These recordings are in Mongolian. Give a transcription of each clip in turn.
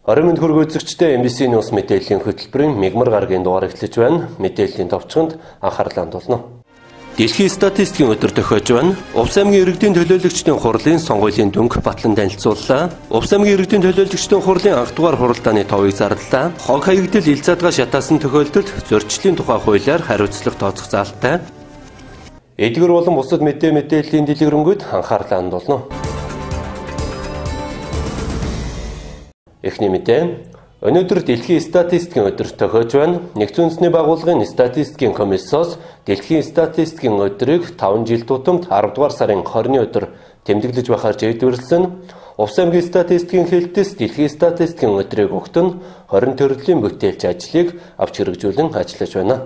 20 минут хүрэх үзэгчдээ MBC News мэдээллийн хөтөлбөрийн мигмар гарагийн дугаар эхлэж байна. Мэдээллийн товчхонд анхаарлаа хандуулна. Дэлхийн статистикийн өдөр тохиож байна. Увс аймгийн иргэдийн төлөөлөгчдийн хурлын сонгуулийн дүнг батлан танилцууллаа. Увс аймгийн иргэдийн төлөөлөгчдийн хурлын анх дугаар хуралдааны товыг зарлалаа. Хог хаягдал ил задгаа шатаасан тохиолдолд зөрчлийн тухай хуулиар хариуцлага тооцох заалтай. Эдгээр болон бусад мэдээллийн дэлгэрэнгүй анхаарлаа хандуулна. Эхний мэдээ. Өнөөдөр Дэлхийн статистикийн өдөр тохиож байна. Нэгдсэн үндэсний байгууллагын статистикийн комиссоос Дэлхийн статистикийн өдрийг 5 жил тутамд 10 дугаар сарын 20-ны өдөр тэмдэглэж байхаар жийдвэрлсэн. Увс аймгийн статистикийн хэлтээс Дэлхийн статистикийн өдрийг өгөх нь 20 төрлийн бүтээлч ажлыг авч хэрэгжүүлэн ажиллаж байна.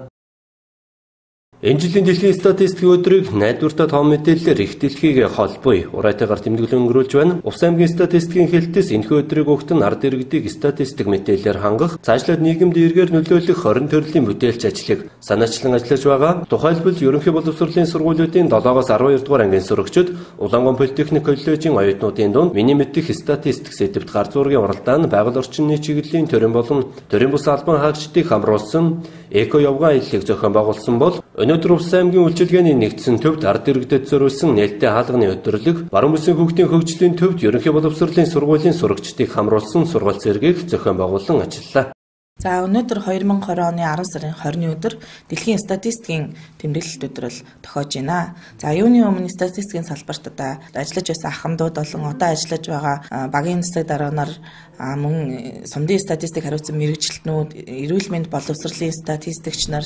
Энэ жилийн Дэлхийн статистикийн өдрийг найдвартай том мэдээллээр их дэлхийг холбоё ураатайгаар тэмдэглэн өнгөрүүлж байна. Увс аймгийн статистикийн хэлтээс энэхүү өдрийг өгөхт нь ард иргэдийг статистик мэдээллээр хангах, цаашлаад нийгэмд эргээр нөлөөлөх 20 төрлийн бүтээлч ажлыг санаачлан ажиллаж байгаа. Тухайлбал ерөнхий боловсролын сургуулиудын 7-оос 12 дугаар ангийн сурагчид Улаангон политехник коллежийн оюутнуудын дунд миний мэдих статистик сэдвт гар зургийн уралдаан байгаль орчны чиглэлийн төрийн болон төрийн бус албан хаагчдыг хамруулсан эко явган аяллыг зохион байгуулсан бол өнөөдөр Увс аймгийн үйлчилгээний нэгдсэн төвд ард иргэдэд зориулсан нээлттэй хаалганы өдөрлөг, баруун бүсийн хүүхдийн хөгжлийн төвд ерөнхий боловсролын сургуулийн сурагчдыг хамруулсан сургалт зэргийг зохион байгуулан ажиллалаа. За өнөөдөр 2020 оны 10 сарын 20-ны өдөр Дэлхийн статистикийн тэмдэглэлт өдөр бол тохиож байна. За юуны өмнө статистикийн салбарт одоо ажиллаж байсан ахмадууд болон одоо ажиллаж байгаа багийн засаг дарга нар мөн сумдын статистик хариуцсан мэргэжилтнүүд, эрүүл мэнд боловсролын статистикч нар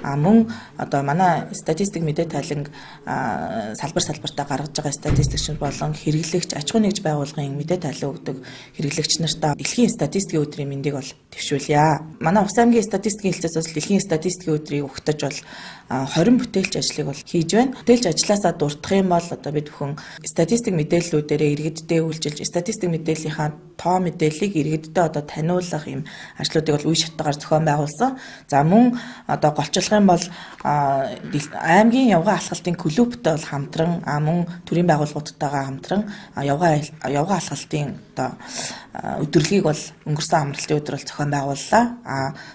мөн одоо манай статистик мэдээ тайланг салбартаа гаргаж байгаа статистикч болон хэрэглэгч аж ахуйн нэгж байгууллагын мэдээ тайлан өгдөг хэрэглэгч нартаа Дэлхийн статистикийн өдрийн мэндийг бол төвшүүлье. Манай Увс аймгийн статистикийн хэлтээс бас Дэлхийн статистикийн өдрийг өгтөж бол 20 бүтээлч ажлыг бол хийж байна. Бүтээлч ажилласаа дурдах юм бол одоо бид бүхэн статистик мэдээллүүдээрээ иргэддээ үйлчилж статистик мэдээллийнхаа тоо мэдээллийг иргэддээ одоо таниулах юм ажлуудыг бол үе шаттайгаар зохион байгуулсан. За мөн одоо голчлох юм бол аймгийн явган алхалтын клубтай бол хамтран мөн төрийн байгууллагуудтайгаа хамтран явган алхалтын одоо өдөрлөгийг бол өнгөрсөн амралтын өдөр бол зохион байгууллаа.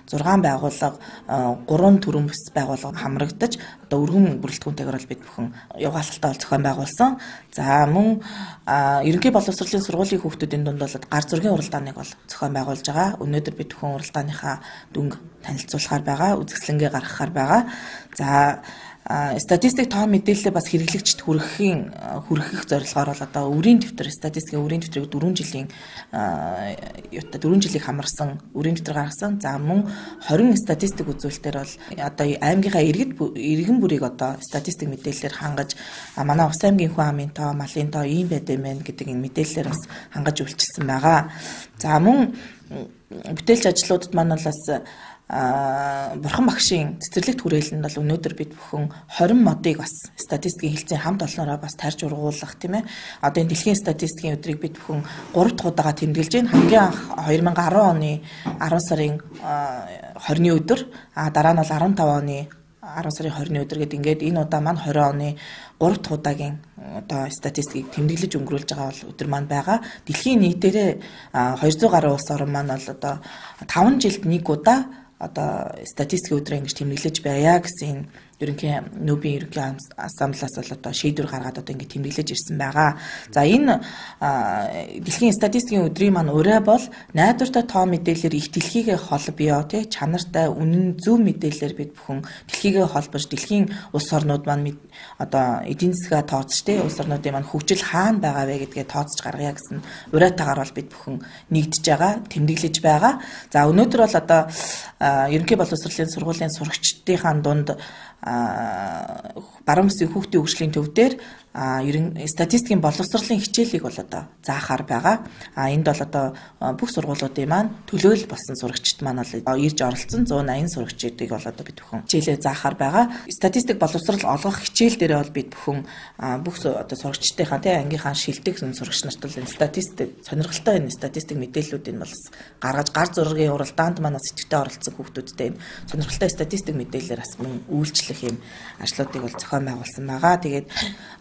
6 байгууллага 3 төрийн бүс байгууллага хамрагдаж одоо өргөн бүрэлдэхүүнтэйгээр бол бид бүхэн явган алхалтаа бол зохион байгуулсан. За мөн ерөнхий боловсролын сургуулийн хүүхдүүдийн дунд бол гар зургийн уралдааныг бол зохион байгуулж байгаа. Өнөөдөр бид бүхэн уралдааныхаа дүнг танилцуулахаар байгаа, үзэсгэлэнгээ гаргахаар байгаа. За статистик тоо мэдээлэлээ бас хэрэглэгчд хүргэх зорилгоор бол одоо өрийн дэвтэр статистикийн өрийн дэвтрийг 4 жилийг хамарсан өрийн дэвтэр гаргасан. За мөн 20 статистик үзүүлэлтээр бол одоо аймгийнхаа иргэн бүрийг одоо статистик мэдээллээр хангаж манай Увс аймгийн хүн амын тоо, малын тоо ийм байд юм байна гэдэг энэ мэдээллээр бас хангаж үйлчилсэн байгаа. За мөн бүтээлч ажлуудад маань бас Бурхан багшийн цэцэрлэгт хүрээлэнд бол өнөөдөр бид бүхэн 20 модыг бас статистикийн хэлтсийн хамт олноороо бас тарж ургуулах тийм ээ. Одоо энэ Дэлхийн статистикийн өдрийг бид бүхэн 3 дахь удаага тэмдэглэж байна. Хамгийн анх 2010 оны 10 сарын 20-ны өдөр, дараа нь бол 15 оны 10 сарын 20-ны өдөр гэдэг ингээд энэ удаа маань 20 оны 3 дахь удаагийн одоо статистикийг тэмдэглэж өнгөрүүлж байгаа бол өдөр маань байгаа. Дэлхийн нийтээрээ 200 гаруй улс орн маань бол одоо 5 жилд нэг удаа одоо статистикийн өдрөө ингэж тэмдэглэж байя гэсэн ерөнхий нүүбийн ерөнхий ассамблеас бол одоо шийдвэр гаргаад одоо ингэ тэмдэглэж ирсэн байгаа. За энэ Дэлхийн статистикийн өдрийн маань ураа бол найдвартай тоо мэдээлэлээр их дэлхийгээ холбоё тий чанартай үнэн зөв мэдээлэлээр бид бүхэн дэлхийгээ холбож дэлхийн улс орнууд маань одоо эдийн засгаа тооцож тий улс орнуудын маань хөгжил хаана байгаа вэ гэдгээ тооцож гаргая гэсэн ураатайгаар бол бид бүхэн нэгдэж байгаа, тэмдэглэж байгаа. За өнөөдөр бол одоо ерөнхий боловсролын сургуулийн сурагчдынхаа дунд баруун бүсийн хүүхдийн хөгжлийн төв дээр статистикийн боловсролын хичээлийг бол одоо заахаар байгаа. Энд бол одоо бүх сургуулиудын маань төлөөлөл болсон сурагчид маань бол ирж оролцсон 180 сурагчдыг бол одоо бид бүхэн хичээлээ заахаар байгаа. Статистик боловсрол олгох хичээл дээрээ бол бид бүхэн бүх одоо сурагчдынхаа тий ангийнхаа шилдэг сурагч нарт бол статистик сонирхолтой энэ статистик мэдээллүүдийг бол гаргаж гар зургийн уралдаанд маань сэтгэлтэй оролцсон хүүхдүүдтэй энэ сонирхолтой статистик мэдээлэлээр бас мөн үйлчлэх гэх юм ажлуудыг бол зохион байгуулсан байгаа. Тэгээд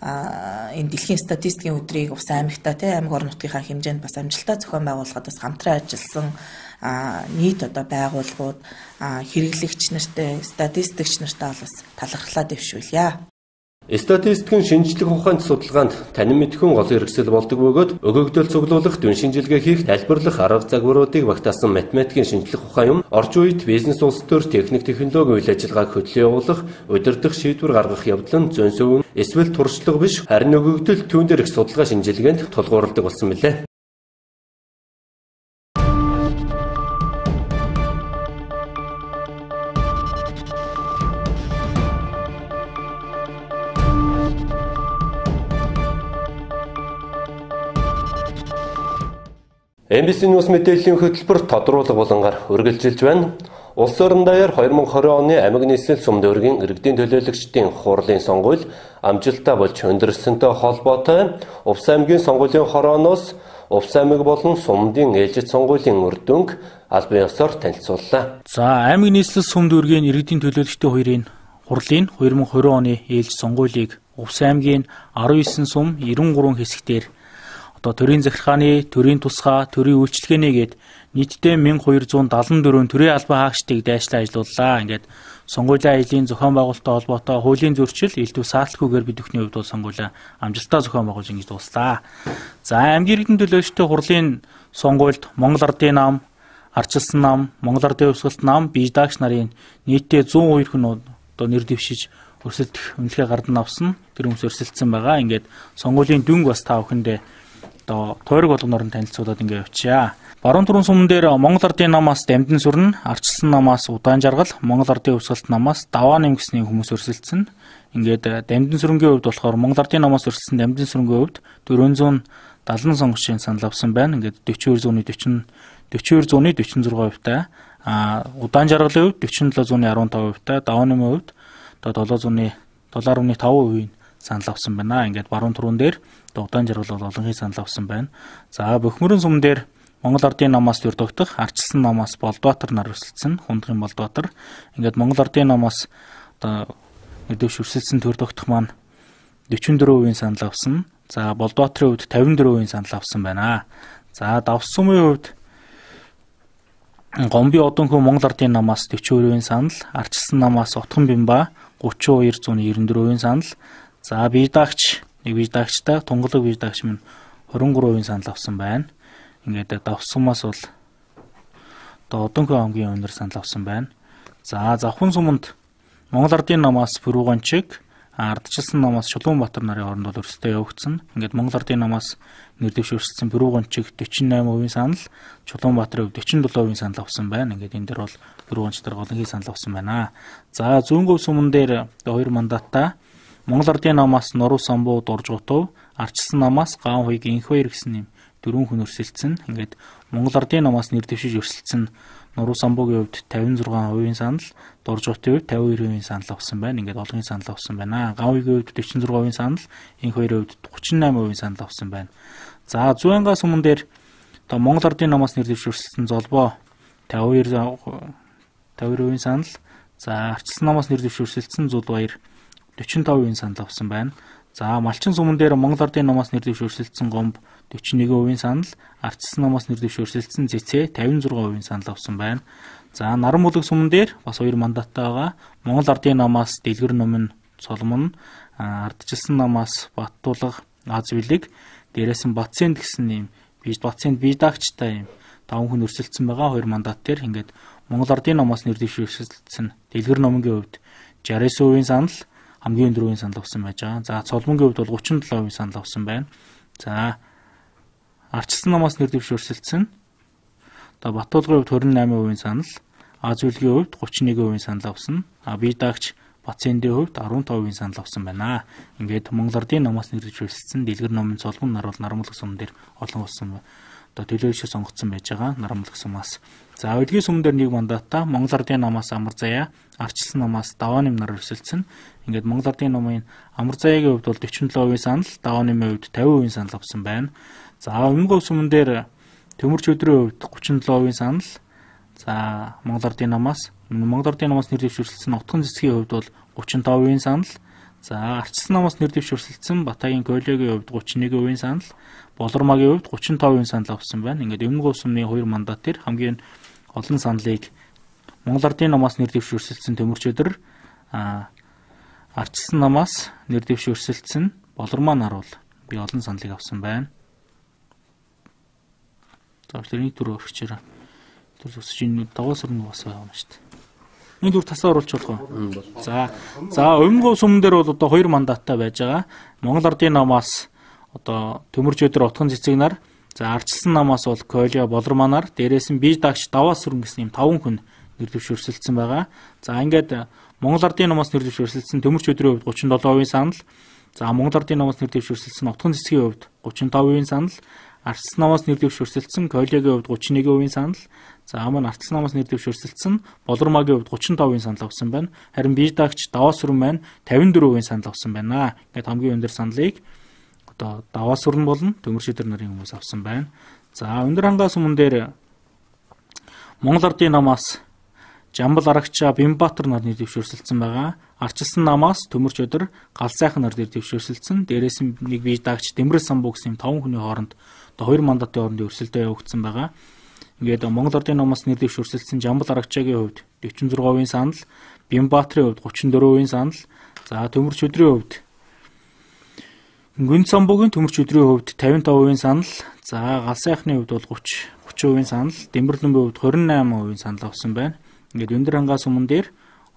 энэ дэлхийн статистикийн өдрийг ус аймагтаа аймаг орон нутгийнхаа хэмжээнд бас амжилттай зохион байгуулахад бас хамтран ажилласан нийт байгууллагууд хэрэглэгч нартай, статистикч нартай бас талархлаа дэвшүүлье. Статистикийн шинжлэх ухааны судалгаанд танин мэдхүйн гол хэрэгсэл болдог бөгөөд өгөгдөл цуглуулах, дүн шинжилгээ хийх, тайлбарлах арга загваруудыг багтаасан математикийн шинжлэх ухаан юм орчин үед бизнес улс төр техник технологи үйл ажиллагааг хөтлөө явуулах, удирдах, шийдвэр гаргах явдал нь зөөн сөвөн эсвэл туршлага биш, харин өгөгдөл түүн дээр их судалгаа шинжилгээнд тулгуурладаг болсон билээ. MBC News мэдээллийн хөтөлбөр тодруулга болонгаар үргэлжилж байна. Улс орон даяар 2020 оны аймаг нийслэл сум дүүргийн иргэдийн төлөөлөгчдийн хурлын сонгуул амжилттай болж өндөрлсөнтэй холбоотой Увс аймгийн сонгуулийн хорооноос Увс аймаг болон сумдын ээлжид сонгуулийн үр дүнг албан ёсоор танилцууллаа. За аймаг нийслэл сум дүүргийн иргэдийн төлөөлөгчдийн хоёрын хурлын 2020 оны ээлж сонгуулийг Увс аймгийн 19 сум 93 хэсгээр төрийн захиргааны, төрийн тусгай, төрийн үйлчлэгээний гээд нийтдээ 1274 төрийн албан хаагчдыг дайшлан ажилууллаа. Ингээд сонгуулийн аялын зохион байгуулалттай холбоотой хуулийн зөрчил элдв саалтгүйгээр бид бүхний хувьд бол сонгуулиа амжилттай зохион байгуулж ингэж дууслаа. За аймгийн иргэдийн төлөөлөгчдийн хурлын сонгуульд Монгол Ардын нам, Ардчилсан нам, Монгол Ардын Өвсгөлт нам, бийдаагч нарын нийтдээ 102 хүн нэр дэвшиж өрсөлдөх үнэлгээ гардан авсан. Тэр хүмүүс өрсөлдсөн байгаа. Ингээд сонгуулийн дүнг бас та бүхэндээ тойрог болгоноор нь танилцуулаад ингээ явчаа. Баруун түрүүн суман дээр Монгол Ардын намаас Дамжин сүрэн, Ардчилсан намаас Удаан жаргал, Монгол Ардын Өвсгөлт намаас Даваа нэм гэсний хүмүүс өрсөлдсөн. Ингээд Дамжин сүрэнгийн хувьд болохоор Монгол Ардын намаас өрсөлдсөн Дамжин сүрэнгийн хувьд 470 сонгогчийн санал авсан байна. Ингээд 42.46 хувьтай, Удаан жаргалын хувьд 47.15 хувьтай, Даваа нэмийн хувьд 7.5% санал авсан байна. Ингээд баруун түрүүн дээр Удаан жаргал бол олонхын санал авсан байна. За Бөхмөрөн сум дээр Монгол Ардын намаас Дөрдөгдөх, Ардчилсан намаас Болдбаатар нар өрсөлдсөн. Хундгын Болдбаатар. Ингээд Монгол Ардын намаас дэвш өрсөлдсөн Дөрдөгдөх маань 44% санал авсан. За Болдбаатарын хувьд 54% санал авсан байна. За Давс сумын хувьд Гомби Одонхөө Монгол Ардын намаас 40% санал, Ардчилсан намаас Утган Бямба 32.94% санал. За бийдаагч бийдаагчтай тунгалаг бийдаагч минь 23% санал авсан байна. Ингээд Давс сумаас бол Одонхөө аймгийн өнөр санал авсан байна. За Завхан суманд Монгол Ардын намаас Бүрүүганчиг, Ардчилсан намаас Чулуунбаатар нарын хооронд бол өрсөлдөө явагдсан. Ингээд Монгол Ардын намаас нэр дэвш өрсөлдсөн Бүрүүганчиг 48% санал, Чулуунбаатарын хувьд 47% санал авсан байна. Ингээд энэ дээр бол Бүрүүганчтар голонхий санал авсан байна. За Зүүнгөв суман дээр 2 мандаттай Монгол Ардын намаас Нуруу Самбуу Дуржгутов, Ардчилсан намаас Гаан Хуйг Инхбаяр гэсэн юм 4 хүн өрсөлдсөн. Ингээд Монгол Ардын намаас нэр дэвшиж өрсөлдсөн Нуруу Самбуугийн хувьд 56% санал, Дуржгутын хувьд 52% санал авсан байна. Ингээд олонхын санал авсан байна. Гаан Хуйгийн хувьд 46% санал, Инхбаярын хувьд 38% санал авсан байна. За Зуянга суман дээр Монгол Ардын намаас нэр дэвшиж өрсөлдсөн Золбоо 52% санал, за Ардчилсан намаас нэр дэвшиж өрсөлдсөн Зулбаяр 45% санал авсан байна. За Малчин суман дээр Монгол Ардын намаас нэр дэвшиж өрсөлдсөн Гомб 41% санал, Ардчилсан намаас нэр дэвшиж өрсөлдсөн Зэцээ 56% санал авсан байна. За Наран Булаг суман дээр бас 2 мандаттай байгаа. Монгол Ардын намаас Дэлгэр Номин Соломон, Ардчилсан намаас Баттулга Азбилэг, дээрээс нь Батсэнд гэсэн юм Батсэнд бийдаагчтай юм 5 хүн өрсөлдсөн байгаа. 2 мандат дээр ингээд Монгол Ардын намаас нэр дэвшиж өрсөлдсөн Дэлгэр Номингийн хувьд 69% санал, хамгийн өндөрийн санал авсан байж байгаа. За Цолмонгийн хувьд бол 37% санал авсан байна. За Ардчилсан намаас нэр дэвшиж өрсөлдсөн Баттулгын хувьд 28% санал, Азбилгийн хувьд 31% санал авсан. Бийдаагч Батсэндийн хувьд 15% санал авсан байна. Ингээд Монгол Ардын намаас нэр дэвшиж өрсөлдсөн Дэлгэр Номын Цолмон нар бол Наран Булаг суман дээр олон болсон төлөөлөгчөөр сонгогдсон байж байгаа. Наран Булаг сумаас. За Удгийн суман дээр 1 мандаттай Монгол Ардын намаас Амар Заяа, Ардчилсан намаас Даваа нэм нар өрсөлдсөн. Ингээд Монгол Ардын намын Амар Заяагийн хувьд бол 47% санал, Даваа нэмийн хувьд 50% санал авсан байна. За Өмнөг суман дээр Төмөрч өдрийн хувьд 37% санал. За Монгол Ардын намаас Монгол Ардын намаас нэр дэвшүүлсэн Утган цэцгийн хувьд бол 35% санал. За Ардчилсан намаас нэр дэвшүүлсэн Батайгийн Койлогийн хувьд 31% санал. Болормагийн хувьд 35% санал авсан байна. Ингээд Өмнөг Усмны 2 мандат төр хамгийн олон саналыг Монгол Ардын намаас нэр дэвшүүлсэн Төмөрчөдөр Ардчилсан намаас нэр дэвшүүлсэн Болормаа нар бол би олон саналыг авсан байна. За тэрний түр өргөчөөр. Тэр зөвсөж энэ даваас өрнө бас байгаа юм шүү дээ. Энэ түр тасаа оруулж болох уу? За Өмнөг Усмн дээр бол одоо 2 мандаттай байж байгаа. Монгол Ардын намаас одоо Төмөрчөдөр Утган цэцэг нар, за Ардчилсан намаас бол Койло Болормаа нар, дээрээс нь бие дагч даваас сүрэн гэсэн юм 5 хүн нэр дэвшүүлсэн байгаа. За ингээд Монгол Ардын намаас нэр дэвшүүлсэн Төмөрчөдрийн хувьд 37% санал. За Монгол Ардын намаас нэр дэвшүүлсэн Утган цэцгийн хувьд 35% санал. Ардчилсан намаас нэр дэвшүүлсэн Койлогийн хувьд 31% санал. За маань Ардчилсан намаас нэр дэвшүүлсэн Болормагийн хувьд 35% санал авсан байна. Харин бие дагч даваас сүрэн маань 54% санал авсан байна. Ингээд хамгийн өндөр саналыг одоо даваас сүрэн болон Төмөрчөдөр нарын хүмүүс авсан байна. За өндөр хангаас өмнө дээр Монгол Ардын намаас Жамбал Арагчаа Бямбаатар нар нэр дэвшүүлсэн байгаа. Ардчилсан намаас Төмөрчөдөр Галзайхан нар нэр дэвшүүлсэн. Дээрээс нь нэг бие дагч Дэмрэл Самбуу гэсэн 5 хүний хооронд одоо 2 мандатын хооронд өрсөлдөө явагдсан байгаа. Ингээд Монгол Ардын намаас нэр дэвшүүлсэн Жамбал Арагчаагийн хувьд 46% санал, Бямбаатрын хувьд 34% санал. За Төмөрчөдрийн хувьд Гүн Самбуугийн Төмөрчөдрийн хувьд 55% санал. За Галзайхны хувьд бол 30% санал, Дэмрэлийн хувьд 28% санал авсан байна. Ингээд өндөр хангаас өмнө дээр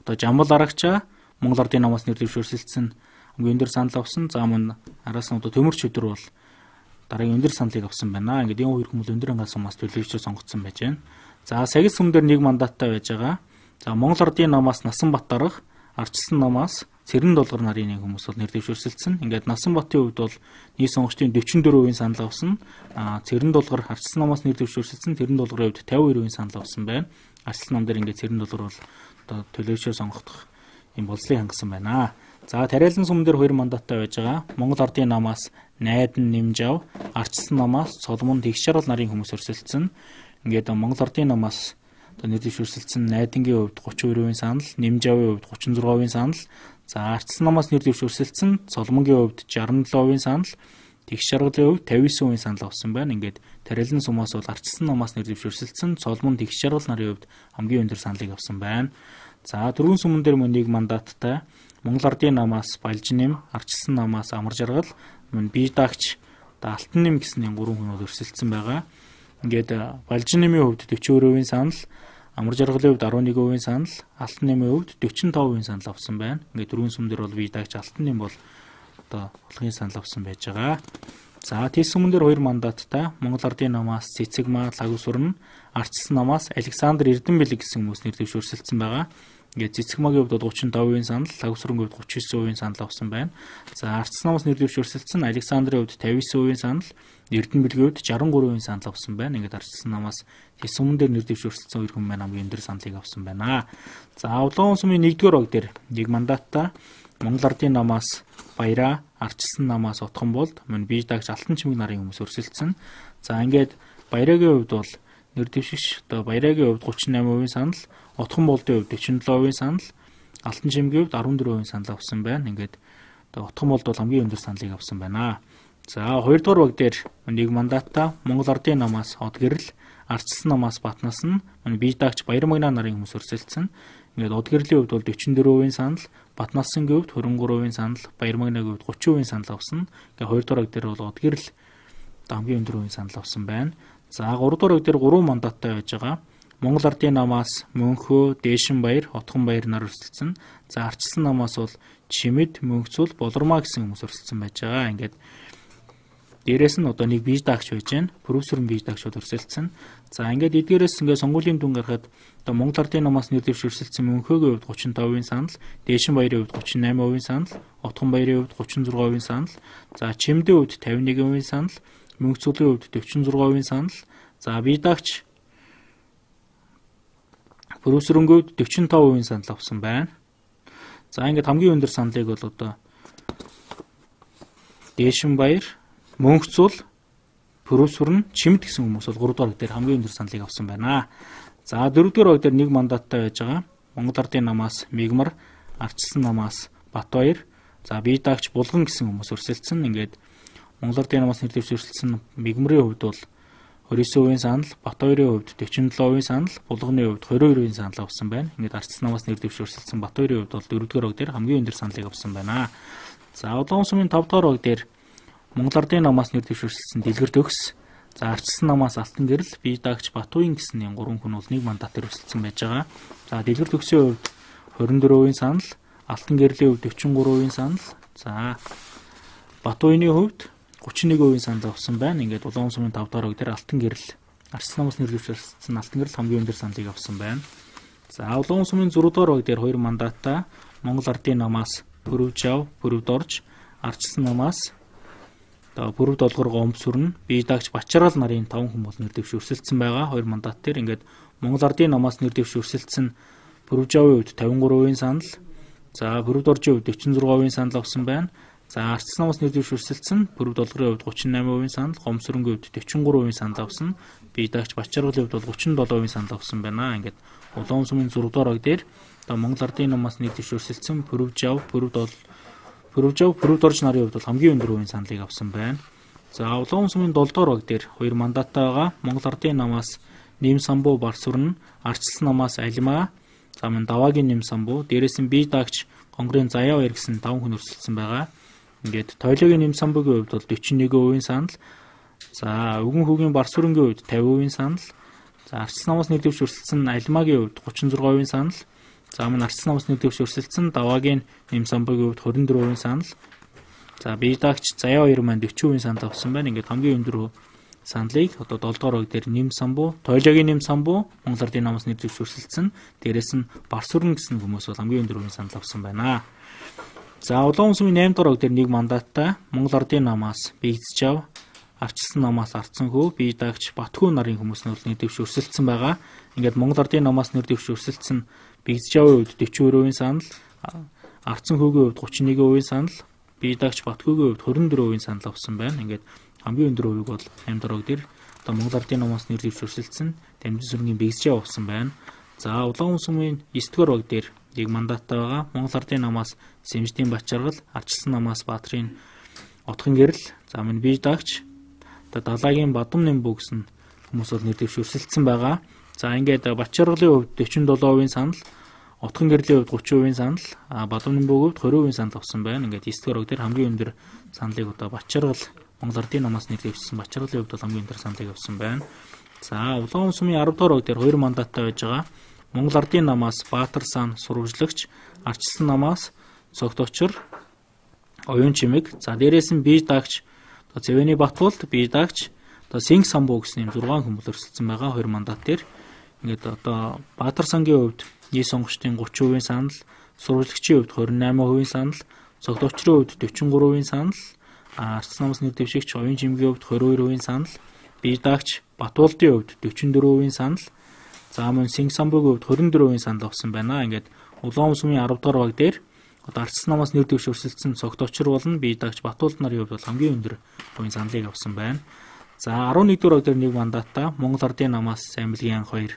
одоо Жамбал Арагчаа Монгол Ардын намаас нэр дэвшүүлсэн хамгийн өндөр санал авсан. За мөн араас нь одоо Төмөрчөдөр бол дараагийн өндөр саналыг авсан байна. Ингээд энэ хоёр хүмүүс өндөр хангаас өмнөөс төлөвлөж сонгогдсон байж байна. За Сагис сүм дээр 1 мандаттай байж байгаа. За Монгол Ардын намаас Насанбат дарга, Ардчилсан намаас Цэрэн Дулгар нарын нэг хүмүүс бол нэр дэвшүүлсэн. Ингээд Насанбатын хувьд бол нийт сонгогчдын 44% санал авсан. Цэрэн Дулгар Ардчилсан намаас нэр дэвшүүлсэн. Цэрэн Дулгарын хувьд 52% санал авсан байна. Ардчилсан нам дээр ингээд Цэрэн Дулгар бол одоо төлөвлөж сонгогдох юм болцлыг хангасан байна. За Тариалан сүм дээр 2 мандаттай байж байгаа. Монгол Ардын намаас Найдан Нэмжав, Ардчилсан намаас Соломон Тэгшарал нарын хүмүүс өрсөлдсөн. Ингээд Монгол Ардын намаас одоо нэр дэвшүүлсэн Найдангийн хувьд 32% санал, Нэмжавын хувьд 36% санал. За Ардчилсан намаас нэр дэвшүүлсэн Соломонгийн хувьд 67% санал, Тэгшаргалын хувьд 59% санал авсан байна. Ингээд Тариалан сумаас бол Ардчилсан намаас нэр дэвшүүлсэн Соломон Тэгшаргал нарын хувьд хамгийн өндөр саналыг авсан байна. За дөрвөн сүмэн дээр мөн 1 мандаттай Монгол Ардын намаас Балжинэм, Ардчилсан намаас Амар Жаргал, мөн бие дагч Алтан нэм гэсэн 3 хүн өрсөлдсөн байгаа. Ингээд Балжинэмийн хувьд 42% санал, Амар Жаргалын хувьд 11% санал, Алтан нэмийн хувьд 45% санал авсан байна. Ингээд дөрвөн сүмэн дээр бол бие дагч Алтан нэм бол одоо холгийн санал авсан байж байгаа. За Тэс сүмэн дээр 2 мандаттай Монгол Ардын намаас Цэцэгмаа Лагусурн, Ардчилсан намаас Александр Эрдэнэбэлэг гэсэн хүмүүс нэр дэвшүүлсэн байгаа. Ингээд Цэцэгмаагийн хувьд 35% санал, Лагусурнгийн хувьд 39% санал авсан байна. За Ардчилсан намаас нэр дэвшүүлсэн Александрын хувьд 59% санал, Эрдэнэбэлгийн хувьд 63% санал авсан байна. Ингээд Ардчилсан намаас Тэс сүмэн дээр нэр дэвшүүлсэн 2 хүн маань хамгийн өндөр саналыг авсан байна. За Улаан сүмийн 1-р баг дээр 1 мандаттай Монгол Ардын намаас Баяраа, Ардчилсан намаас Утганболд, мөн бие дагч Алтан чимэг нарын хүмүүс өрсөлдсөн. За ингээд Баярагийн хувьд бол нэр дэвшигч одоо Баярагийн хувьд 38% санал, Утганболдын хувьд 47% санал, Алтан чимгийн хувьд 14% санал авсан байна. Ингээд одоо Утганболд бол хамгийн өндөр саналыг авсан байна. За 2-р баг дээр 1 мандаттай Монгол Ардын намаас Одгэрэл, Ардчилсан намаас Батнасан, мөн бие дагч Баярмагна нарын хүмүүс өрсөлдсөн. Ингээд Одгэрлийн хувьд бол 44% санал, Батнасангийн хувьд 23% санал, Баярмагнагийн хувьд 30% санал авсан. Ингээд 2-р баг дээр бол Одгэрэл хамгийн өндөр хувийн санал авсан байна. За 3-р баг дээр 3 мандаттай байж байгаа. Монгол Ардын намаас Мөнхөө, Дээшинбаяр, Отгонбаяр нар өрсөлдсөн. За Ардчилсан намаас бол Чимэд, Мөнхцүүл, Болормаа гэсэн хүмүүс өрсөлдсөн байж байгаа. Ингээд дээрээс нь одоо нэг бие дагч байж байна. Профессор бие дагчуд өрсөлдсөн. За ингээд эдгээрээс ингээд сонгуулийн дүн гарахад одоо Монгол Ардын намаас нэр дэвшүүлсэн Мөнхөөгийн хувьд 35% санал, Дээшинбаярын хувьд 38% санал, Отгонбаярын хувьд 36% санал, за Чимдийн хувьд 51% санал, Мөнхцүүлийн хувьд 46% санал, за бие дагч профессорын хувьд 45% санал авсан байна. За ингээд хамгийн өндөр саналыг бол одоо Дээшинбаяр, Мөнхцүүл, профессор нь Чимд гэсэн хүмүүс бол 3 дугаар дээр хамгийн өндөр саналыг авсан байна. За 4 дугаар баг дээр 1 мандаттай байж байгаа. Монгол Ардын намаас Мигмар, Ардчилсан намаас Батбаяр, за бие даагч Булган гэсэн хүмүүс өрсөлдсөн. Ингээд Монгол Ардын намаас нэр дэвш өрсөлдсөн Мигмарын хувьд бол 29% санал, Батбаярын хувьд 47% санал, Булганы хувьд 22% санал авсан байна. Ингээд Ардчилсан намаас нэр дэвш өрсөлдсөн Батбаярын хувьд бол 4-р баг дээр хамгийн өндөр саналыг авсан байна. За Улаан сумын 5-р баг дээр Монгол Ардын намаас нэр дэвш өрсөлдсөн Дэлгэр Төгс, за Ардчилсан намаас Алтан Гэрэл, бие даагч Батуян гэсэн 3 хүн бол нэг мандатаар өрсөлдсөн байж байгаа. За Дэлгэр Төгсийн хувьд 24% санал, Алтан Гэрлийн хувьд 43% санал, за Батуяны хувьд 31% санал авсан байна. Ингээд Улаан сумын 5-р баг дээр Алтан Гэрэл, Ардчилсан намаас нэр дэвш өрсөлдсөн Алтан Гэрэл хамгийн өндөр саналыг авсан байна. За Улаан сумын 6-р баг дээр 2 мандатаа Монгол Ардын намаас Пүрэв Жав, Пүрэв Дорж, Ардчилсан намаас Пүрэв Долгор Гомбсүрн, бие даагч Бачаргал нарын 5 хүн бол нэр дэвш өрсөлдсөн байгаа. 2 мандат дээр ингээд Монгол Ардын намаас нэр дэвш өрсөлдсөн Пүрэв Жавын хувьд 53% санал, за Пүрэв Доржийн хувьд 46% санал авсан байна. За Ардчилсан намаас нэр дэвш өрсөлдсөн Пүрэв Долгорын хувьд 38% санал, Гомбсүрнгийн хувьд 43% санал авсан. Бие даагч Бачаргалын хувьд бол 37% санал авсан байна. Ингээд Улаан сумын 6-р баг дээр Монгол Ардын намаас нэр дэвш өрсөлдсөн Пүрэв Жав, Пүрэв Дорж нарын хувьд бол хамгийн өндөр хувийн саналыг авсан байна. За Улаан сумын 7-р баг дээр 2 мандаттай байгаа Монгол Ардын намаас Нэм Самбуу Барсүрн, Ардчилсан намаас Алимаа, за мөн Даваагийн Нэм Самбуу, дээрээс нь бие даагч Гонгорын Заяа баяр гэсэн 5 хүн өрсөлдсөн байгаа. Ингээд Тойлогийн Нэм Самбуугийн хувьд бол 41% санал, за Өвгөн хүүгийн Барсүрнгийн хувьд 50% санал, за Ардчилсан намаас нэр дэвш өрсөлдсөн Алимаагийн хувьд 36% санал, за мөн Ардчилсан намаас нэр дэвш өрсөлдсөн Даваагийн Нэм Самбуугийн хувьд 24% санал, за бие даагч Заяа баяр маань 40% санал авсан байна. Ингээд хамгийн өндөр саналыг одоо 7-р баг дээр Нэм Самбуу, Тойлогийн Нэм Самбуу Монгол Ардын намаас нэр дэвш өрсөлдсөн, дээрээс нь Барсүрн гэсэн хүмүүс бол хамгийн өндөр хувийн санал авсан байна. За Улаан сумын 8-р баг дээр 1 мандаттай Монгол Ардын намаас Бигц Жав, Ардчилсан намаас Арцанхүү, бие даагч Батхүү нарын хүмүүс нь нэр дэвш өрсөлдсөн байгаа. Ингээд Монгол Ардын намаас нэр дэвш өрсөлдсөн Бигц Жавын хувьд 40% санал, Арцанхүүгийн хувьд 31% санал, бие даагч Батхүүгийн хувьд 24% санал авсан байна. Ингээд хамгийн өндөр хувийг бол 8-р баг дээр одоо Монгол Ардын намаас нэр дэвш өрсөлдсөн Дамжин сүргийн Бигц Жав авсан байна. За Улаан сумын 9-р баг дээр 1 мандаттай байгаа Монгол Ардын намаас Сэмждийн Бачаргал, Ардчилсан намаас Баатрын Отхон Гэрэл, за мөн бие даагч Далаагийн Бадам Нэмбүү гэсэн хүмүүс бол нэр дэвш өрсөлдсөн байгаа. За ингээд Бачаргалын хувьд 47% санал, Отхон Гэрлийн хувьд 30% санал, Бадам Нэмбүүгийн хувьд 20% санал авсан байна. Ингээд 9-р баг дээр хамгийн өндөр саналыг одоо Бачаргал, Монгол Ардын намаас нэр дэвшсэн Бачаргалын хувьд бол хамгийн өндөр саналыг авсан байна. За Улаан сумын 10-р баг дээр 2 мандаттай байж байгаа Монгол Ардын намаас Баатар сан Сурвалжлагч, Ардчилсан намаас Цогточор, Оюун Чимэг, за дээрээс нь бие даагч Зэвэний Батболд, бие даагч Синг Самбуу гэсэн 6 хүн бол өрсөлдсөн байгаа 2 мандат дээр. Ингээд одоо Баатар сангийн хувьд нийт сонгогчдын 30% санал, сурвалжлагчийн хувьд 28% санал, Цогточрын хувьд 43% санал, Ардчилсан намаас нэр дэвшигч Оюун Чимэгийн хувьд 22% санал, бие даагч Батболдын хувьд 44% санал, за мөн Синг Самбуугийн хувьд 24% санал авсан байна. Ингээд Улаан сумын 10-р баг дээр одоо Ардчилсан намаас нэр дэвш өрсөлдсөн Цогточор болон бие даагч Батболд нарын хувьд бол хамгийн өндөр хувийн саналыг авсан байна. За 11-р баг дээр 1 мандаттай Монгол Ардын намаас Самилгийн анх 2,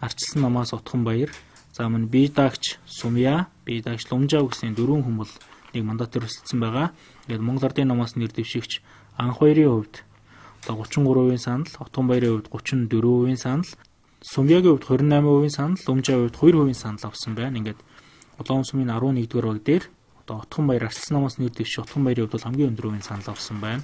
Ардчилсан намаас Утхан Баяр, за мөн бие даагч Сумья, бие даагч Лумжав гэсэн 4 хүн бол 1 мандатаар өрсөлдсөн байгаа. Тэгээд Монгол Ардын намаас нэр дэвшигч анх 2-ын хувьд одоо 33% санал, Утхан Баярын хувьд 34% санал, Сумьягийн хувьд 28% санал, Лумжавын хувьд 2% санал авсан байна. Ингээд Улаан сумын 11-р баг дээр одоо Утхан Баяр, Ардчилсан намаас нэр дэвшиж Утхан Баярын хувьд бол хамгийн өндөр хувийн санал авсан байна.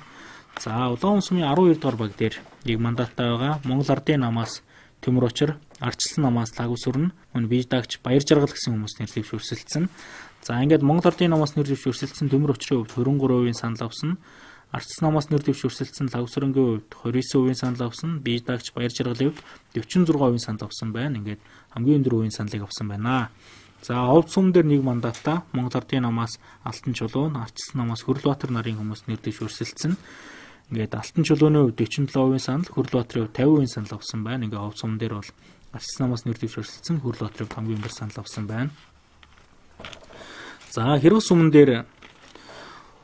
За Улаан сумын 12-р баг дээр 1 мандаттай байгаа Монгол Ардын намаас Төмөр Очор, Ардчилсан намаас Лагусүрн, мөн бие даагч Баяр Жаргал гэсэн хүмүүс нэр дэвш өрсөлдсөн. За ингээд Монгол Ардын намаас нэр дэвш өрсөлдсөн Төмөр Очрын хувьд 23% санал авсан. Ардчилсан намаас нэр дэвш өрсөлдсөн Лагусүрнгийн хувьд 29% санал авсан. Бие даагч Баяр Жаргалын хувьд 46% санал авсан байна. Ингээд хамгийн өндөр хувийн саналыг авсан байна. За Овд сум дээр 1 мандаттай Монгол Ардын намаас Алтан Чулуун, Ардчилсан намаас Хөрлбаатар нарын хүмүүс нэр дэвш өрсөлдсөн. Ингээд Алтан Чулууны хувьд 47% санал, Хөрлбаатарын хувьд 50% санал авсан байна. Ингээд Овд сум дээр бол Ардчилсан намаас нэр дэвш өрсөлдсөн Хөрлбаатарын хувьд хамгийн өндөр санал авсан байна. За Хэрэг сумн дээр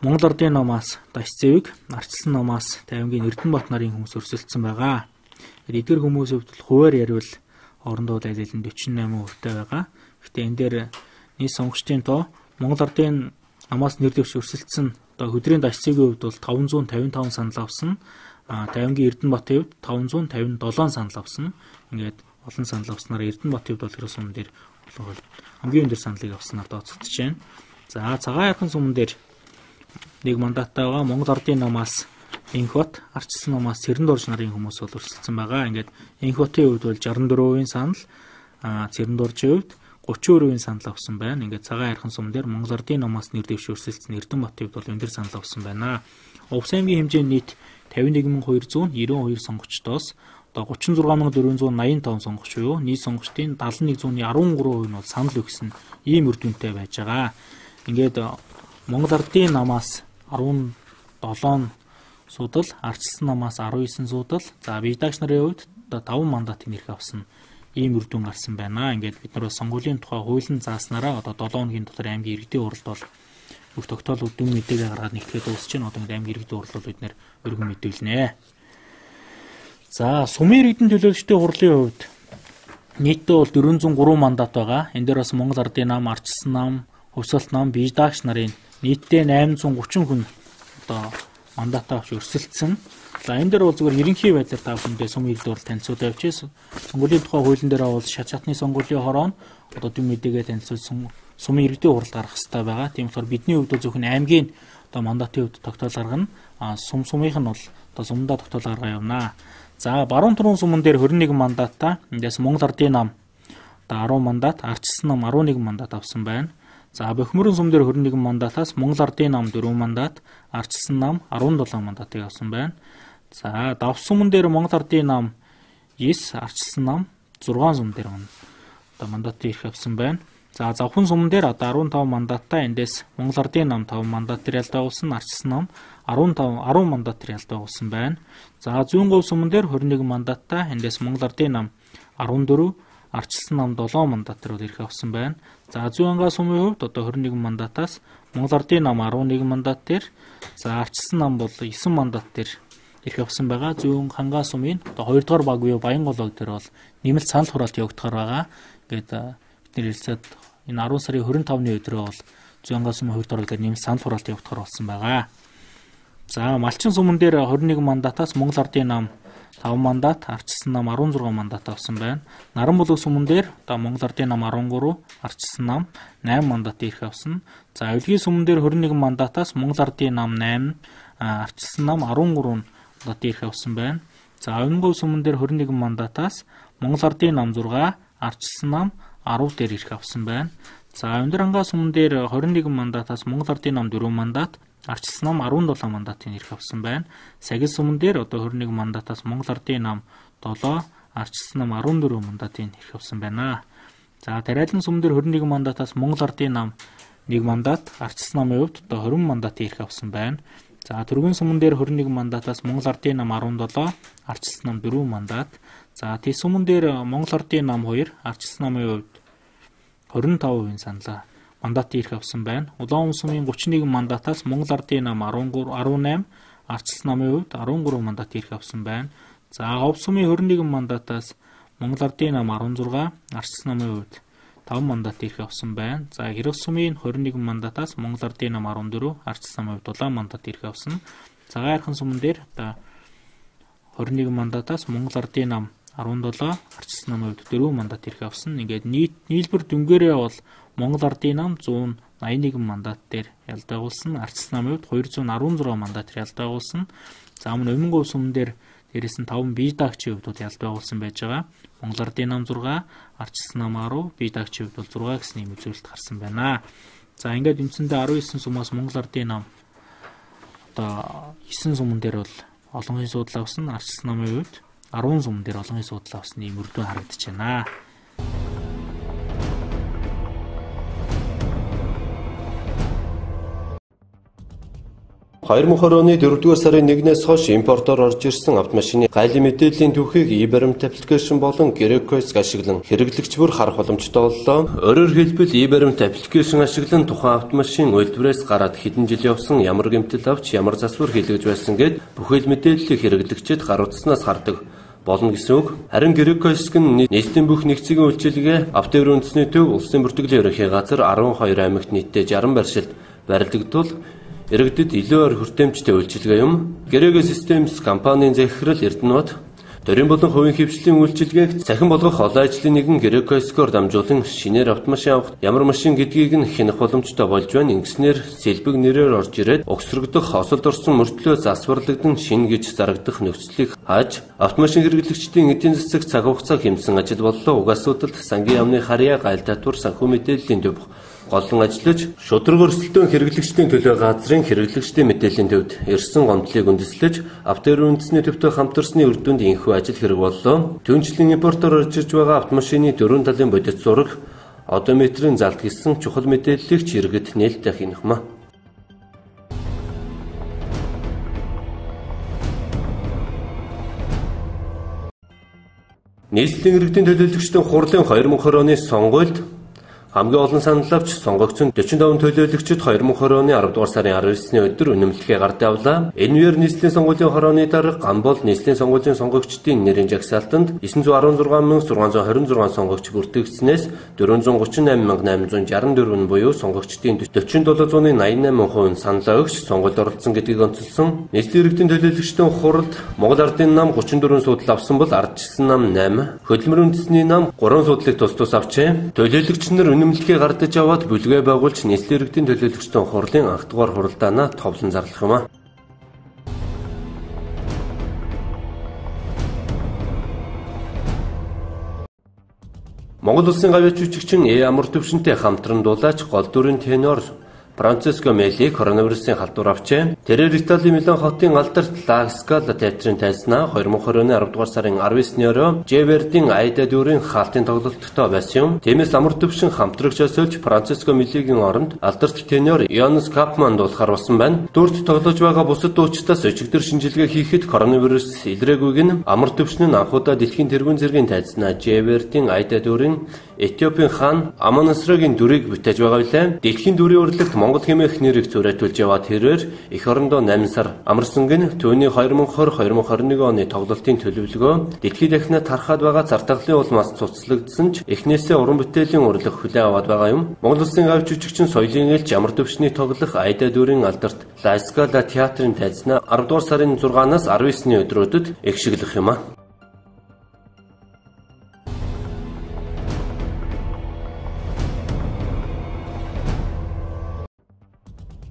Монгол Ардын намаас Даш Зэвэг, Ардчилсан намаас Тайвангийн Эрдэнэбат нарын хүмүүс өрсөлдсөн байгаа. Эдгээр хүмүүсийн хувьд хуваар яривал орондоо аль аль нь 48% байгаа. Гэхдээ энэ дээр нийт сонгогчдын тоо Монгол Ардын намаас нэр дэвш өрсөлдсөн одоо хөдрийн дашцгийн хувьд бол 555 санал авсан. Тавингийн Эрдэнэбатын хувьд 557 санал авсан. Ингээд олон санал авснаар Эрдэнэбатын хувьд бол хэрэв суман дээр хамгийн өндөр саналыг авснаар тооцогдож байна. За цагаан ярхан суман дээр нэг мандаттай байгаа Монгол Ардын намаас Энхбат, Арчилсан намаас Цэрэнорж нарын хүмүүс бол өрсөлдсөн байгаа. Ингээд Энхбатын хувьд бол 64% санал, Цэрэноржийн хувьд 30% санал авсан байна. Ингээд цагаан ярхан суман дээр Монгол Ардын намаас нэр дэвш өрсөлдсөн Эрдэнэбатын хувьд бол өндөр санал авсан байна. Увс аймгийн хэмжээнд нийт 51292 сонгогчдоос одоо 36485 сонгогч буюу нийт сонгогчдын 7113% нь бол санал өгсөн ийм үр дүнтэй байж байгаа. Ингээд Монгол Ардын намаас 17 судал, Арчилсан намаас 19 судал, за Бидагч нарын хувьд одоо 5 мандатын нэрх авсан ийм үр дүн гарсан байна. Ингээд бид нар сонгуулийн тухай хуулийн зааснараа одоо 7 хоногийн дотор аймгийн иргэдийн уралд бол бүх тогтоолууд дүн мэдээлэл гаргаад нэгтгэхэд дуусч байна. Одоо аймгийн иргэдийн уралд бол бид нэр өргөн мэдээлнэ. За сумын иргэдийн төлөөлөгчдийн хурлын хувьд нийтдээ бол 403 мандат байгаа. Энэ дээр бас Монгол Ардын нам, Арчилсан нам, Хувьсгалт нам, Бидагч нарын нийтдээ 830 хүн одоо мандатаа авч өрсөлдсөн. За энэ дээр бол зүгээр ерөнхий байдлаар та бүхэндээ сумын иргэд урал танилцуулж авчээ. Сонгуулийн тухай хуулийн дээр бол шат шатны сонгуулийн хороо одоо дүн мэдээгээ танилцуулсан сумын иргэдийн уралд гарах хэрэгтэй байгаа. Тийм болохоор бидний хувьд зөвхөн аймгийн одоо мандатын хувьд тогтоол гаргана. Сумынх нь бол одоо сумдаа тогтоол гаргаа явнаа. За баруун түрүүн суман дээр 21 мандаттай. Эндээс Монгол Ардын нам одоо 10 мандат, Арчилсан нам 11 мандат авсан байна. За Бохимрын сум дээр 21 мандатаас Монгол Ардын нам 4 мандат, Арчилсан нам 17 мандатыг авсан байна. За Давс суман дээр Монгол Ардын нам 9, Арчилсан нам 6 сум дээр одоо мандатыг ирэх авсан байна. За Завхан суман дээр одоо 15 мандаттай. Эндээс Монгол Ардын нам 5 мандатаар ялдаагуулсан, Арчилсан нам 10 мандатаар ялдаагуулсан байна. За Зүүнговь суман дээр 21 мандаттай. Эндээс Монгол Ардын нам 14, Арчилсан нам 7 мандатаар ирэх авсан байна. За Зүүнхангаа сумын хувьд одоо 21 мандатаас Монгол Ардын нам 11 мандат дээр, за Арчилсан нам бол 9 мандат дээр ирэх авсан байгаа. Зүүнхангаа сумын одоо 2 дугаар баг буюу Баянголог дээр бол нэмэлт санал хураалт явагдахаар байгаа. Ингээд бид нэр хэлцээд энэ 10 сарын 25-ны өдрөө бол Зүүнхангаа сумын 2 дугаар дээр нэмэлт санал хураалт явагдахаар болсон байгаа. За Малчин суман дээр 21 мандатаас Монгол Ардын нам 5 мандат, Арчилсан нам 16 мандат авсан байна. Наранбулаг суман дээр одоо Монгол Ардын нам 13, Арчилсан нам 8 мандат ирэх авсан. За Авилгийн суман дээр 21 мандатаас Монгол Ардын нам 8, Арчилсан нам 13 мандат ирэх авсан байна. За Авингов суман дээр 21 мандатаас Монгол Ардын нам 6, Арчилсан нам 10 дээр ирэх авсан байна. За Авиндрангаа суман дээр 21 мандатаас Монгол Ардын нам 4 мандат, Арчилсан нам 17 мандатын ирэх авсан байна. Сагил суман дээр одоо 21 мандатаас Монгол Ардын нам 7, Арчилсан нам 14 мандатын ирэх авсан байна. За Тариалан суман дээр 21 мандатаас Монгол Ардын нам 1 мандат, Арчилсан намын хувьд одоо 20 мандатын ирэх авсан байна. За Түргэн суман дээр 21 мандатаас Монгол Ардын нам 17, Арчилсан нам 4 мандат. За Тэс суман дээр Монгол Ардын нам 2, Арчилсан намын хувьд 25% саналаа мандат ирэх авсан байна. Улаан сумын 31 мандатаас Монгол Ардын нам 18, Арчилсан намын хувьд 13 мандат ирэх авсан байна. За Хов сумын 21 мандатаас Монгол Ардын нам 16, Арчилсан намын хувьд 5 мандат ирэх авсан байна. За Хэрэг сумын 21 мандатаас Монгол Ардын нам 14, Арчилсан намын хувьд 7 мандат ирэх авсан. Цагаан ярхан суман дээр одоо 21 мандатаас Монгол Ардын нам 17, Арчилсан намын хувьд 4 мандат ирэх авсан. Ингээд нийлбэр дүнгээрээ бол Монгол Ардын нам 181 мандат дээр ялдаагуулсан, Арчилсан намын хувьд 216 мандат дээр ялдаагуулсан. За мөн Өмнөгов суман дээр дээрээс нь 5 Бидагчийн хувьд бол ялдаагуулсан байж байгаа. Монгол Ардын нам 6, Арчилсан нам 10, Бидагчийн хувьд бол 6 гэсэн ийм үзүүлэлт гарсан байна. За ингээд үндсэндээ 19 сумаас Монгол Ардын нам одоо 9 суман дээр бол олонхын судал авсан, Арчилсан намын хувьд 10 суман дээр олонхын судал авсан ийм үр дүн харагдаж байна. ...2020 оны 4-р сарын 1-ээс хойш импортоор орж ирсэн автомашины гайлын мэдээллийн түүхийг e-баримт аппликейшн болон Grecois ашиглан хэрэглэгч бүр харах боломжтой боллоо. Өөрөөр хэлбэл e-баримт аппликейшн ашиглан тухайн автомашин үйлдвэрээс гараад хэдэн жил явсан, ямар гэмтэл авч, ямар засвар хийлгэж байсан гэд бүхэл мэдээллийг хэрэглэгчид гар утаснаас хардаг. болно гэсэн үг. Харин Греко хэсэг нь нийслэлийн бүх нэгцгийн үйлчилгээ Автовер үндэсний төв улсын бүртгэлийн ерөнхий газар 12 аймагт нийтдээ 60 барилшилд барилдагдвал иргэдэд илүү ор хүртээмжтэй үйлчилгээ юм. Греко Systems компанийн захирал Эрдэнэбат Төрийн болон хувийн хвшлийн үйлчилгээг цахин болгох олон ажлын нэгэн Греко хэсгээр дамжуулан шинээр автомашин авах ямар машин гэдгийг нь хянах боломжтой болж байна. Ингэснээр сэлбэг нэрээр орж ирээд огсрогдох, осолд орсон мөртлөө засварлагдсан шин гэж зарагдах нөхцөлийг хааж автомашин хэрэглэгчдийн эдийн засаг цаг хугацаа хэмжсэн ажил боллоо. Угаасуудад сангийн яамны харьяа гайл татвар санхүү мэдээллийн төв голлон ажиллаж шудраг өрсөлдөөн хэрэглэгчдийн төлөө газрын хэрэглэгчдийн мэдээллийн төвд ирсэн гомдлыг үндэслэж Автовер үндэсний төвтэй хамтарсны үр дүнд инхүү ажил хэрэг боллоо. Түүнчлэн импортоор орж ирж байгаа автомашины дөрвөн талын бодит зураг, одометрийн залт гэсэн чухал мэдээллийг ч иргэд нээлттэй хянахмаа. Нийслэлийн иргэдийн төлөөлөгчдийн хурлын 2020 оны сонгуульд хамгийн олон санал авч сонгогдсон 45 төлөөлөгчид 2020 оны 10 дугаар сарын 19-ний өдөр үнэмлэхээ гард явлаа. Энэ үеэр нийслэлийн сонгуулийн хорооны дарга Гамбол нийслэлийн сонгуулийн сонгогчдын нэрийн жагсаалтанд 916,626 сонгогч бүртгэгдснээс 438,864 буюу сонгогчдын 4788% санал өгч сонгуульд оролцсон гэдгийг онцолсон. Нийслэлийн иргэдийн төлөөлөгчдийн хуралд Монгол Ардын нам 34 судал авсан бол ардчилсан нам 8, хөдөлмөр үндэсний нам 3 судлыг тус авчээ. Төлөөлөгч нар үнэмлэхээ гардаж аваад бүлгээ байгуулж нийслэлийн иргэдийн төлөөлөгчдийн хурлын анх дугаар хуралдаанаа товлон зарлах юм а. Монгол улсын гавьяач жүжигчин амар төвшөнтэй хамтран дулаач гол дүрийн тенор Франциско Мели коронавирусын халдвар авчээ. Тэрээр Италийн Милан хотын алдарт Ла Скала театрын тайзнаа 2020 оны 10 дугаар сарын 19-ний орой Жевертийн Айда дүрийн хаалтын тоглолттой байсан юм. Тиймээс амар төвшин хамтрагч өсөлж Франциско Мелигийн оронд алдарт тенор Йонас Капман дуулахар болсон байна. Дүрт тоглож байгаа бусад дуучдаас өчигдөр шинжилгээ хийхэд коронавирус илрээгүйг нь амар төвшин нь анхудаа дэлхийн тэргүүн зэргийн тайзнаа Жевертийн Айда дүрийн Этиопийн хаан Амоносрогийн дүрийг бүтээж байгаа билээ. Дэлхийн дүрийн урлагт Монгол хэмээх нэрийг зөрөөлж яваад тэрээр эх орондоо 8 сар амарсанг нь түүний 2020-2021 оны тоглолтын төлөвлөгөө дэлхийд дахинаа тархаад байгаа зардагдлын улмаас цуцлагдсан ч эхнээсээ уран бүтээлийн урлаг хүлээн аваад байгаа юм. Монгол улсын гавьяач жүжигчин соёлын ээлж амар төвшний тоглох Айда дүрийн алдарт Ла Скала театрын тайзнаа 10 дугаар сарын 6-наас 19-ний өдрүүдэд эгшиглэх юм а.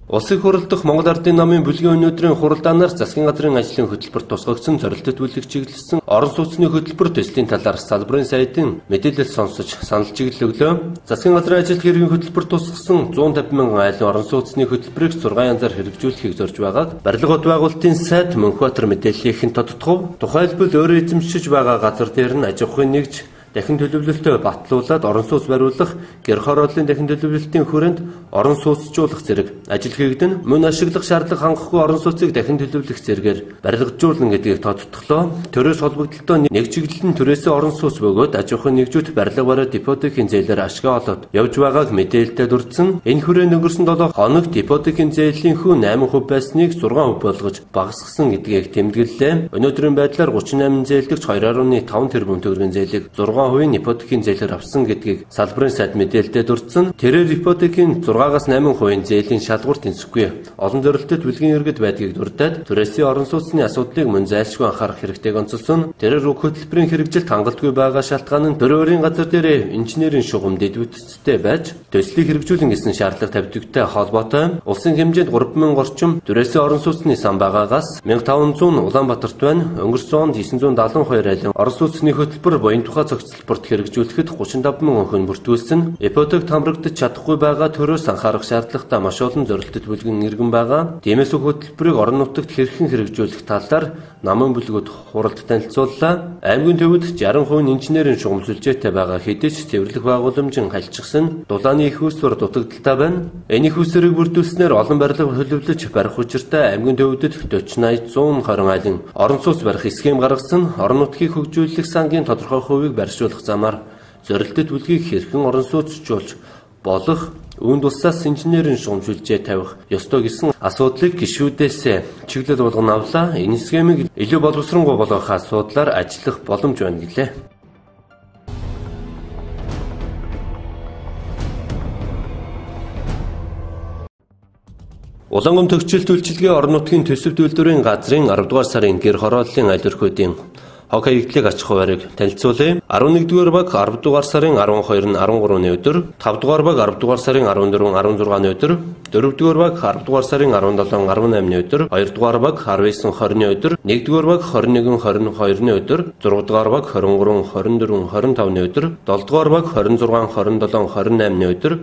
Улсын хурал дахь Монгол Ардын намын бүлгийн өнөөдрийн хуралдаанаар засгийн газрын ажлын хөтөлбөр тусгагдсан зорилтод бүлэг чиглэсэн орон сууцны хөтөлбөр төслийн талаар салбарын сайдын мэдээлэл сонсож санал чиглэл өглөө. Засгийн газрын ажилт хэргийн хөтөлбөр тусгасан 150 мянган айлын орон сууцны хөтөлбөрийг 6 янзаар хэрэгжүүлэхийг зорж байгааг барилга бот байгуулалтын сайд Мөнхбаатар мэдээллийнхэн тодтогов. Тухайлбал өөрөө эзэмшиж байгаа газар дээр нь аж ахуйн нэгж дахин төлөвлөлтөө батлуулаад орон сууц бариулах, гэр хорооллын дахин төлөвлөлтийн хүрээнд орон сууцжуулах зэрэг ажил хийгдэн мөн ашиглах шаардлага хангахгүй орон сууцыг дахин төлөвлөх зэрэгээр барилгажуулна гэдгийг тодтоглоо. Төрөөс холбогдлолтоо нэг чиглэл нь түрээсээ орон сууц бөгөөд аж ахуйн нэгжүүд барилга бараа депотын зээлээр ашгаа олоод явж байгааг мэдээлэлтэй дурдсан. Энэ хүрээнд өнгөрсөн 7 хоногт депотын зээлийн хүү 8% байсныг 6% болгож багасгасан гэдгийг тэмдэглэлээ. Өнөөдрийн байдлаар 38 зээлдэгч 2.5 тэрбум төгрөгийн зээлийг 6% ипотекийн зээлээр авсан гэдгийг салбарын сайд мэдээлэлдээ дурдсан. Тэрээр ипотекийн 6-аас 8% зээлийн шалгуур тэнцэхгүй. Олон зорилттой бүлгийн иргэд байдгийг дурдаад түрээсийн орон сууцны асуудлыг мөн зайлшгүй анхаарах хэрэгтэйг онцолсон. Тэрээр уг хөтөлбөрийн хэрэгжилт хангалтгүй байгаа шалтгаан нь төрийн газар дээр инженерийн шугам дэдвүтцтэй байж төслийг хэрэгжүүлэн гэсэн шаардлага тавьдагтай холбоотой. Улсын хэмжээнд 3000 орчим түрээсийн орон сууцны сан байгаагаас 1500 Улаанбаатарт байна. Өнгөрсөн онд 972 айлын орон сууцны хөтөлбөр буян тухай цогцлборт хэрэгжүүлэхэд 35 мянган хүн бүртгүүлсэн. Ипотек хамрагдаж чадахгүй байгаа төрөөс анхаарах шаардлагатай маш олон зорилттой бүлгэн иргэн байгаа. Тиймээс хөтөлбөрийг орон нутагт хэрхэн хэрэгжүүлэх талаар намын бүлгүүд хуралд танилцууллаа. Аймгийн төвд 60% инженерийн шугам сүлжээтэй байгаа хэдий ч цэвэрлэх байгууламжин хальчихсан. Дулааны их усвар дутагдaltaй байна. Энэ их усварыг бүрдүүлснээр олон барилга төлөвлөж барих учиртай аймгийн төвдөд 40-80-120 айлын орон сууц барих схем гаргасан. Орон нутгийг хөгжүүлэх сангийн тодорхой хувийг барьшуулах замаар зорилттой бүлгийг хэрхэн орон сууцжуулж болох Үүнд улсаас инженерийн шугамжуулжээ тавих ёстой гэсэн асуудлыг гишүүдээс чиглэл болгон авлаа. Энэ схемийг илүү боловсронгуй болгох асуудлаар ажиллах боломж байна гэлээ. Улаангом төгсгөл үйлчилгээ орон нутгийн төсөв үйлдвэрийн газрын 10 дугаар сарын гэр хорооллын аялал өрхөөдийн хог хаягдлыг аж ахуй байрыг танилцуулъя. 11-р баг 10 дугаар сарын 12-ны 13-ны өдөр, 5-р баг 10 дугаар сарын 14-16-ны өдөр, 4-р баг 10 дугаар сарын 17-18-ны өдөр, 2-р баг 19-20-ны өдөр, 1-р баг 21-22-ны өдөр, 6-р баг 23-24-25-ны өдөр, 7-р баг 26-27-28-ны өдөр,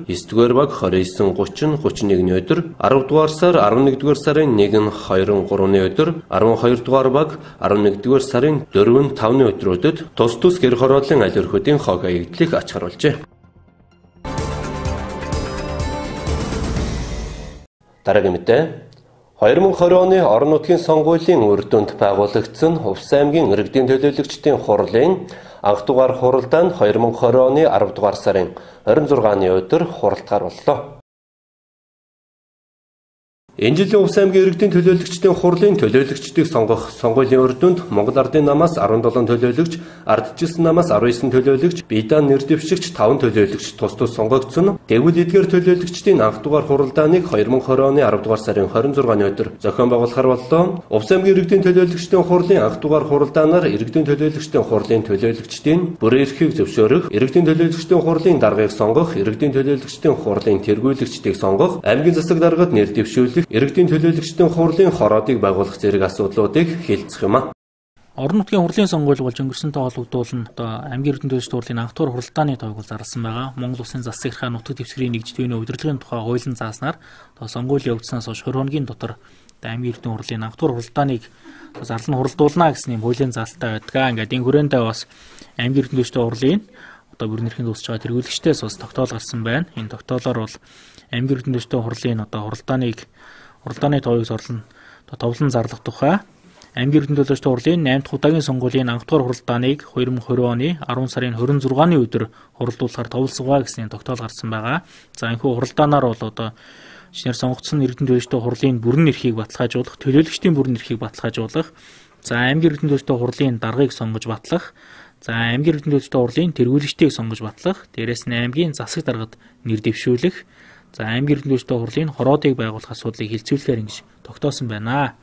9-р баг 29-30-31-ны өдөр, 10-р сар 11-р сарын 1-2-3-ны өдөр, 12-р баг 11-р сарын 4-5-ны өдрүүдэд тус тус гэр хорооллын аялал өрхөөдийн хог хаягдлыг ач харуулжээ. Дараагийн мэдээ 2020 оны орон нутгийн сонгуулийн үр дүнд байгуулагдсан Увс аймгийн иргэдийн төлөөлөгчдийн хурлын анх дугаар хуралдаанд 2020 оны 10 дугаар сарын 26-ны өдөр хуралдгаар боллоо. Энэ жилийн Увс аймгийн иргэдийн төлөөлөгчдийн хурлын төлөөлөгчдийг сонгох сонгуулийн үр дүнд Монгол Ардын намаас 17 төлөөлөгч, Ардчилсан намаас 19 төлөөлөгч, Биедаан нэр дэвшигч 5 төлөөлөгч тус тус сонгогдсон. Тэгвэл эдгээр төлөөлөгчдийн анх дугаар хуралдааныг 2020 оны 10 дугаар сарын 26-ны өдөр зохион байгуулахар боллоо. Увс аймгийн иргэдийн төлөөлөгчдийн хурлын анх дугаар хуралдаанаар иргэдийн төлөөлөгчдийн хурлын төлөөлөгчдийн бүрэн эрхийг зөвшөөрөх, иргэдийн төлөөлөгчдийн хурлын даргыг сонгох, иргэдийн төлөөлөгчдийн хурлын тэргүүлэгчдийг сонгох, аймгийн засаг даргад нэр дэвшүүлэх, иргэдийн төлөөлөгчдийн хурлын хороодыг байгуулах зэрэг асуудлуудыг хэлцэх юм а. Орон нутгийн хурлын сонгуул болж өнгөрсөнтэй холбогдуулан аймгийн иргэдийн төлөөлөгчдийн хурлын анх дугаар хуралдааны тоог зарласан байгаа. Монгол Улсын засаг захиргаа нутаг дэвсгэрийн нэгжтгүүний удирдлагын тухай хуулийн зааснаар сонгуулийн явагдсанаас хойш 20 хоногийн дотор аймгийн иргэдийн хурлын анх дугаар хуралдааныг зарлан хуралдуулна гэсэн юм хуулийн заалттай байдаг. Ингээд энэ хүрээндээ бас аймгийн иргэдийн төлөөлөгчдийн хурлын бүрэн эрхийн дуусч байгаа тэргүүлэгчдээс бас тогтоол гарсан байна. Энэ тогтоолоор бол аймгийн иргэдийн төлөөлөгчдийн хурлын хуралдааны тоогийг товлон зарлах тухай аймгийн иргэдийн төлөөлөгчдийн хурлын 8 дахь удаагийн сонгуулийн анх дугаар хуралдааныг 2020 оны 10 сарын 26-ны өдөр хуралдуулахар товлсгоо гэсэн тогтоол гарсан байгаа. За энэхүү хуралдаанаар бол шинээр сонгогдсон иргэдийн төлөөлөгчдийн хурлын бүрэн эрхийг баталгаажуулах, төлөөлөгчдийн бүрэн эрхийг баталгаажуулах, за аймгийн иргэдийн төлөөлөгчдийн хурлын даргыг сонгож батлах, за аймгийн иргэдийн төлөөлөгчдийн хурлын тэргүүлэгчдийг сонгож батлах, дээрээс нь аймгийн засаг даргад нэр дэвшүүлэх, за аймгийн иргэдийн төлөөлөгчдийн хурлын хороодыг байгуулах асуудлыг хилцүүлэхээр ингэж тогтоосон байна.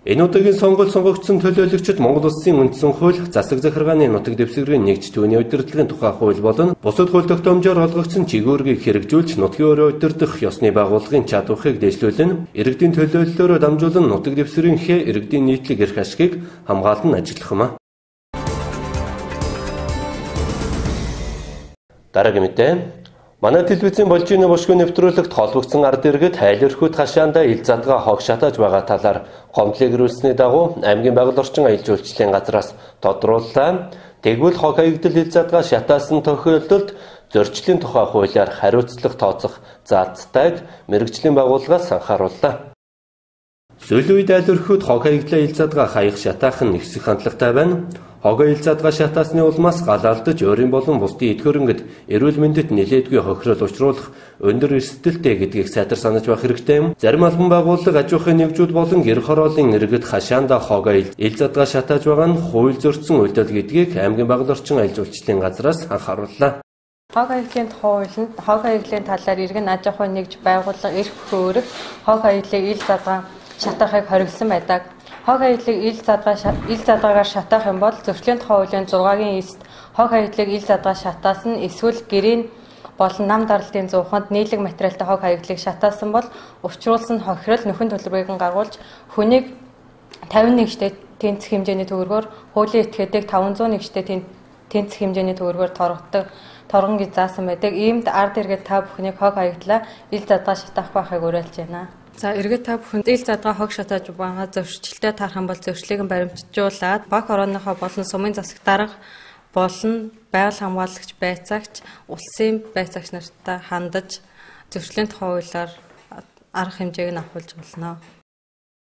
Энэ удаагийн сонгуульд сонгогдсон төлөөлөгчид Монгол Улсын үндсэн хууль, засаг захиргааны нутаг дэвсгэрийн нэгжтгүүний удирдлагын тухай хууль болон бусад хууль тогтоомжоор олгогдсон чиглэлийг хэрэгжүүлж нутгийн өрөө удирдах ёсны байгууллагын чадварыг дэвшлүүлэн иргэдийн төлөөллөөрөө дамжуулан нутаг дэвсгэрийнхээ иргэдийн нийтлэг эрх ашигыг хамгаалан ажиллах юм а. Дараагийн мэдээ манай телевизийн болжины бушгүй нэвтрүүлэгт холбогдсон ард иргэд аялал өрхөөд хашаандаа ил задгаа хог шатааж байгаа талаар гомдлыг ирүүлсэний дагуу аймгийн байгаль орчин аялал жуулчлалын газраас тодрууллаа. Тэгвэл хог хаягдал ил задгаа шатаасан тохиолдолд зөрчлийн тухай хуулиар хариуцлага тооцох заалтайг мэргэжлийн байгууллагаас анхаарууллаа. Сүүлийн үед аялал өрхөөд хог хаягдлаа ил задгаа хаях шатаах нь ихсэх хандлагатай байна. Хог ил задгаа шатаасны улмаас галаалдаж өөрийн болон бусдын эд хөрөнгөд эрүүл мэндэд нэлээдгүй хохирол учруулах өндөр эрсдэлтэй гэдгийг сайтар санаж байх хэрэгтэй юм. Зарим албан байгууллага аж ахуйн нэгжүүд болон гэр хорооллын иргэд хашаанда хог ил задгаа шатааж байгаа нь хууль зөрчсөн үйлдэл гэдгийг аймгийн байгаль орчин аялал жуулчлалын газраас анхаарууллаа. Хог хаягдлын хуулинд хог хаягдлын талаар иргэн аж ахуйн нэгж байгууллага эрх хөөрөх хог хаягдлыг ил задгаа шатаахыг хориглосон байдаг. Хог хаягдлыг ил задгаагаар шатаах юм бол зөрчлийн тухай хуулийн 6-гийн 9-т хог хаягдлыг ил задгаа шатаас нь эсвэл гэрийн болон нам даралтын зууханд нийлэг материалтай хог хаягдлыг шатаасан бол учруулсан хохирол нөхөн төлбөрийг гаргуулж хүнийг 51-т тэнцэх хэмжээний төгрөгөөр хуулийн этгээдэг 501-т тэнцэх хэмжээний төгрөгөөр торгон гэж заасан байдаг. Иймд ард иргэд та бүхнийг хог хаягдлаа ил задгаа шатаах байхыг уриалж байна. За иргэд та бүхэнд ил задгаа хог шатааж байгаа зөрчилтэй тархан бол зөрчлийг баримтжуулаад баг орооныхоо болон сумын засаг дарга болон байгаль хамгаалагч байцаагч улсын байцаагч нартай хандаж зөрчлийн тухай хуулиар арга хэмжээг нь авахулж болно.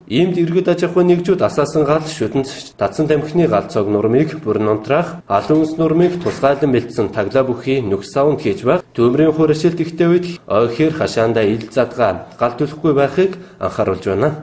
Иймд иргэд аж ахуйн нэгжүүд асаасан гал шүтэнд Дадсан тамхины гал цог нурмыг бүрэн унтраах, алуун ус нурмыг тусгайлан бэлдсэн таглаа бүхий нүкс саунд хийж байх, төмрийн хуурашилт ихтэй үед ойхээр хашаандаа ил задгаа гал төлөхгүй байхыг анхааруулж байна.